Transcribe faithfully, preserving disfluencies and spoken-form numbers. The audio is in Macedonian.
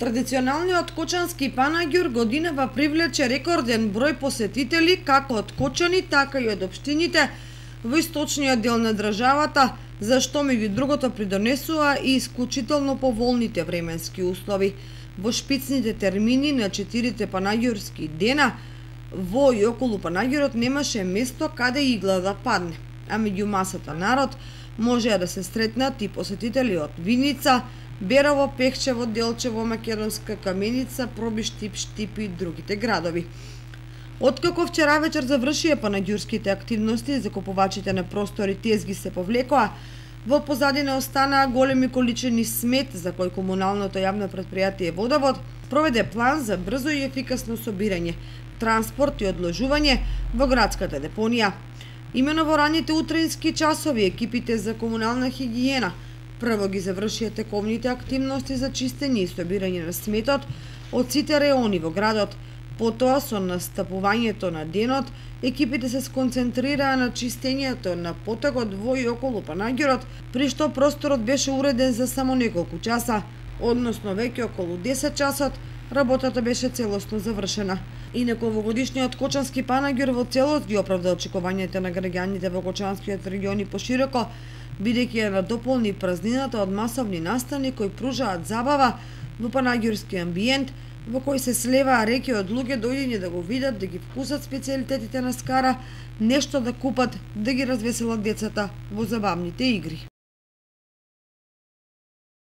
Традиционалниот кочански панаѓур годинава привлече рекорден број посетители како од Кочани, така и од општините во источниот дел на државата, за што меѓу другото придонесува и исклучително поволните временски услови. Во шпицните термини на четирите панаѓурски дена во и околу панаѓурот немаше место каде игла да падне, а меѓу масата народ можеа да се сретнат и посетители од Виница, Берово, Пехчево, Делчево, Македонска, Каменица, Пробиштип, Штип и другите градови. Откако вчера вечер завршија панаѓурските активности, закупувачите на простори тезги се повлекоа, во позадина останаа големи количини смет за кој комуналното јавно претпријатие Водовод проведе план за брзо и ефикасно собирање, транспорт и одложување во градската депонија. Имено во раните утрински часови екипите за комунална хигиена прво ги завршија тековните активности за чистење и собирање на сметот од сите реони во градот. Потоа, со настапувањето на денот, екипите се сконцентрираа на чистењето на потегот во и околу панаѓурот, при што просторот беше уреден за само неколку часа, односно веќе околу десет часот, работата беше целосно завршена. Инаку овогодишниот кочански панаѓур во целост ги оправда очекувањата на граѓаните во кочанскиот регион и пошироко, бидејќи ја надополни празнината од масовни настани кои пружаат забава во панаѓурски амбиент, во кој се слеваа реки од луѓе дојдени да го видат, да ги вкусат специјалитетите на Скара, нешто да купат, да ги развеселат децата во забавните игри.